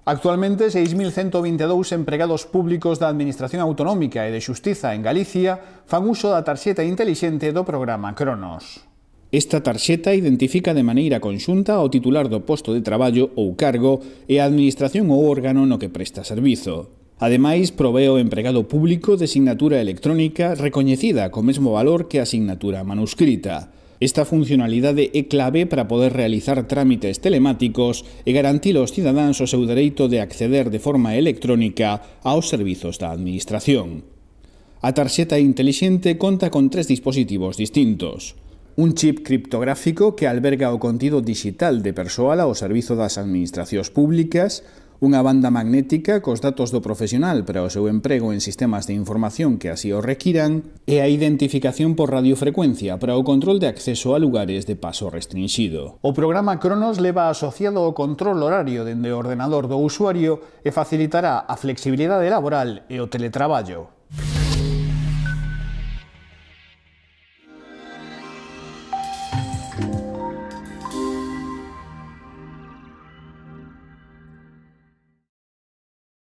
Actualmente, 6.122 empregados públicos da Administración Autonómica e de Xustiza en Galicia fan uso da tarxeta intelixente do programa Cronos. Esta tarxeta identifica de maneira conxunta ao titular do posto de traballo ou cargo e a Administración ou órgano no que presta servizo. Ademais, provee ao empregado público de sinatura electrónica recoñecida co mesmo valor que a sinatura manuscrita. Esta funcionalidade é clave para poder realizar trámites telemáticos e garantir aos cidadáns o seu dereito de acceder de forma electrónica aos servizos da Administración. A tarxeta intelixente conta con 3 dispositivos distintos. Un chip criptográfico que alberga o contido digital de persoal ao servizo das administracións públicas, unha banda magnética cos datos do profesional para o seu emprego en sistemas de información que así o requiran e a identificación por radiofrecuencia para o control de acceso a lugares de paso restringido. O programa Cronos leva asociado o control horario dende o ordenador do usuario e facilitará a flexibilidade laboral e o teletraballo.